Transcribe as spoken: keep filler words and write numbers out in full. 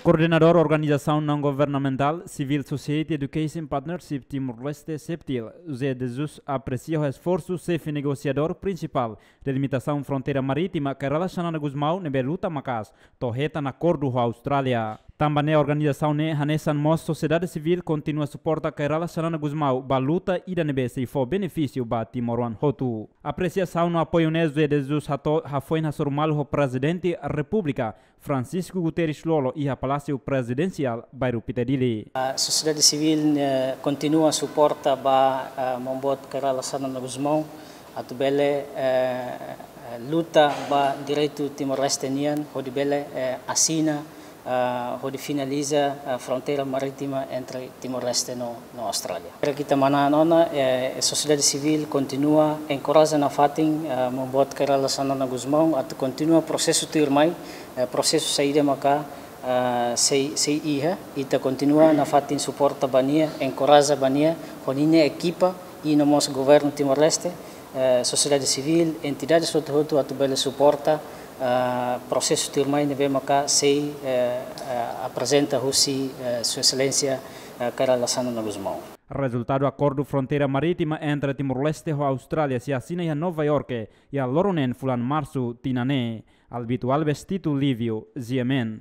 Koordenadór Organizasaun Naun Governamentál Civil Society Education Partnership Timor-Leste, CEPTIL, José de Jesus, apresia esforsu xefe negosiadór prinsipál delimitasaun fronteira marítima, Kay Rala Xanana Gusmão, ne'ebé luta maka'as to'o hetan akordu ho Austrália. Tanba ne'e, organizasaun ne'e hanesan mós sosiedade sivíl kontinua suporta Kay Rala Xanana Gusmão ba luta ida ne'ebé sei fó benefísiu ba timoroan hotu. Apresiasaun no apoiu ne'e José de Jesus hato'o hafoin hasoru malu ho Prezidente Repúblika, Francisco Guterres Lú, iha Palásiu Prezidensiál, bairru Pita Dili. A sosiedade sivíl, eh, kontinua suporta ba, eh, maun boot Kay Rala Xanana Gusmão atu bele, eh, eh, luta ba direitu Timor-Leste nian, hodi bele, eh, asina, eh, hodi finaliza, eh, fronteira marítima entre Timor-Leste no, no Austrália. Para ita manán ona, eh, sosiedade sivíl kontinua enkoraja nafatin, eh, maun boot Kay Rala Xanana Gusmão atu kontinua prosesu tuirmai, eh, prosesu saida maka, eh, sei, sei iha, ita kontinua nafatin suporta ba nia, enkoraja ba nia, ho ninia ekipa, i no mós governu Timor-Leste, eh, sosiedade sivíl, entidades hotu-hotu atu bele suporta, eh, prosesu tuirmai ne'ebé maka sei, eh, eh, aprezenta husi, eh, Sua Exelénsia, eh, Kay Rala Xanana Gusmão. Rezultadu akordu fronteira marítima entre Timor-Leste ho Austrália sei asina iha Nova Iorke, iha loron neen fulan Marsu tinan ne'e. Albito Alves, Tito Livio, G M N.